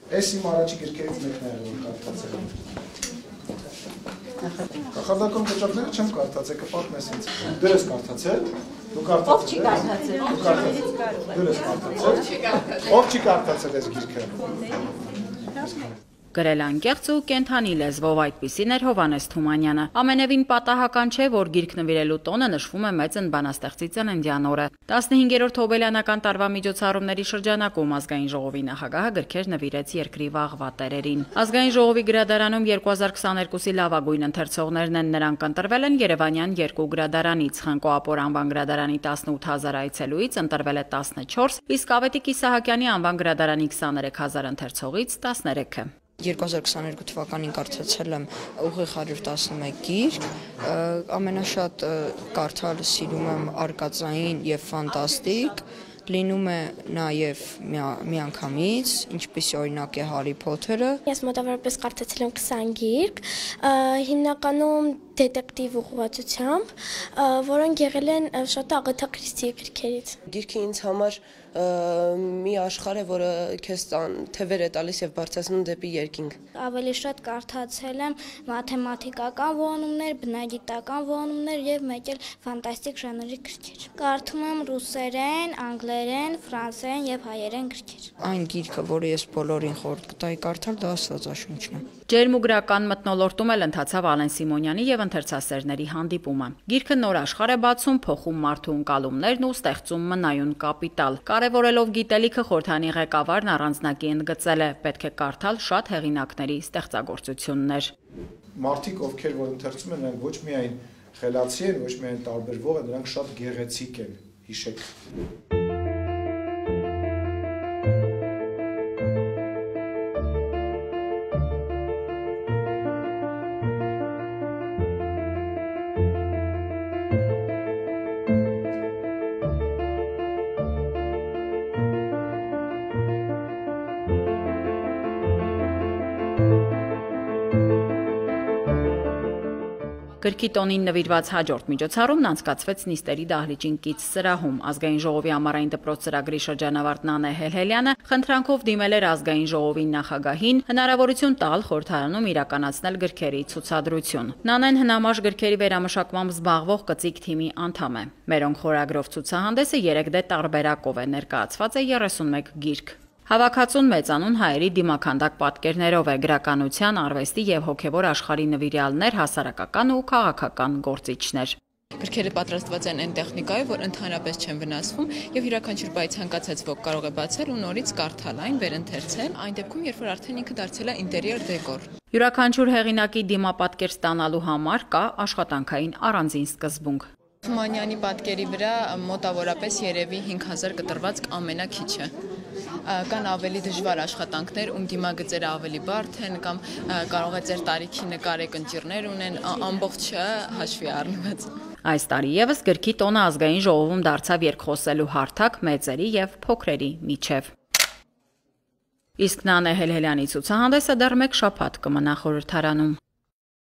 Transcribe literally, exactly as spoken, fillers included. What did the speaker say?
Այս իմ առաջի գրքերից մեկն է, որ կարդացել եմ։ Կախարդական կոճակները չեմ կարդացել, կպատմես ինձ։ Դու ես կարդացել։ Դու կարդացել ես։ Դու ես կարդացել։ Ով չի կարդացել այս գիրքը։ Գրել անկեղծ ու կենդանի լեզվով այդպիսին էր Հովհաննես Թումանյանը։ Ամենևին պատահական չէ, որ գիրք նվիրելու տոնը նշվում է մեծ ընբանաստեղծի ծննդյան օրը։ տասնհինգերորդ Հոբելյանական տարվա միջոցառումների շրջանակում Ազգային ժողովի նախագահը գրքեր նվիրեց երկրի վաղվա տերերին։ Ազգային ժողովի գրադարանում երկու հազար քսաներկուսի լավագույն ընթերցողներն են, նրանք ընտրվել են Երևանյան երկու գրադարանից։ Խնկո Ապոր անվան գրադարանի տասնութ հազար այցելուից ընտրվել է տասնչորս, իսկ Ավետիք Իսահակյանի անվան գրադարանի քսաներեք հազար ընթերցողից տասներեքը։ երկու հազար քսաներկու թվականին կարդացել եմ ուղիղ հարյուր տասնմեկ գիրք, ամենաշատ կարդալ սիրում եմ արկածային և ֆանտաստիկ, լինում է նաև միանգամից, ինչպես օրինակ է Հարի Փոթերը։ Ես մոտավորապես կարդացել եմ քսան գիրք, հիմնականում դետեկտիվ ուղղվածությամբ, որոնք եղել են շատ Ագաթա Քրիստիի գրքերից։ Գիրքը ինձ համար մի աշխարհ է, որը քեզ թևեր է տալիս եւ բարձրացնում դեպի երկինք։ Ավելի շատ կարդացել եմ մաթեմատիկական ողանումներ, բնագիտական ողանումներ եւ մեկ էլ ֆանտաստիկ ժանրի գրքեր։ Կարդում եմ ռուսերեն, անգլերեն, ֆրանսերեն եւ հայերեն գրքեր։ Այն գիրքը, որը ես բոլորին խորհուրդ կտայի կարդալ, դա Աստվածաշունչն է։ Ջերմուգրական մթնոլորտում էլ ընթացավ Ալեն Սիմոնյանի եւ ընթերցասերների հանդիպումը։ Գիրքը նոր աշխարհ է բացում, փոխում մարդու ընկալումներն ու ստեղծում մնայուն կապիտալ։ Կարևորելով գիտելիքը խորհրդանի ղեկավարն առանձնակի ընդգծել է, պետք է կարդալ շատ հեղինակների ստեղծագործություններ։ Մարդիկ, ովքեր որ ընթերցում են, նրանք ոչ միայն խելացի են, ոչ միայն տարբերվող են, նրանք շատ գեղեցիկ են, հիշեք։ Գրքի տոնին նվիրված հաջորդ միջոցառումն անցկացվեց նիստերի դահլիճին կից սրահում։ Ազգային ժողովի ամառային դպրոց ծրագրի շրջանավարտ Նանե Հելհելյանը խնդրանքով դիմել էր Ազգային ժողովի նախագահին հնարավորություն տալ խորհրդարանում իրականացնել գրքերի ցուցադրություն։ Նանեն հնամաշ գրքերի վերամշակմամբ զբաղվող կծիկ թիմի անդամ է։ Մերոնք խորագրով ցուցահանդեսը երեք դե տարբերակով է, ներկայացված է երեսունմեկ գիրք։ Հավաքածուն մեծանուն հայերի դիմաքանդակ պատկերներով է, գրականության, արվեստի եւ հոգեվոր աշխարհի նվիրյալներ, հասարակական ու քաղաքական գործիչներ։ Գրքերը պատրաստված են այն տեխնիկայով, որ ընդհանրապես չեն վնասվում եւ յուրաքանչյուր բայ ցանկացած ոք կարող է բացել ու նորից կարդալ այն, վերընթերցել, այն դեպքում, երբ որ արդեն ինքը դարձել է ինտերիեր դեկոր։ Յուրաքանչյուր հեղինակի դիմապատկեր ստանալու համար կա աշխատանքային առանձին սկզբունք։ Թումանյանի պատկերի վրա մոտավորապես երևի հինգ հազար կտրված ամենաքիչը։ Կան ավելի դժվար աշխատանքներ, ում դիմագծերը ավելի բարդ են կամ կարող է ձեր տարիքի նկարեք ընճիռներ ունեն, ամբողջը հաշվի առնված։ Այս տարի եւս գրքի տոնը Ազգային ժողովում դարձավ երկխոսելու հարթակ մեծերի եւ փոքրերի միջև։ Իսկ Նանե Հելհելյանի ցուցահանդեսը դեռ մեկ շաբաթ կմնա խորհրդարանում։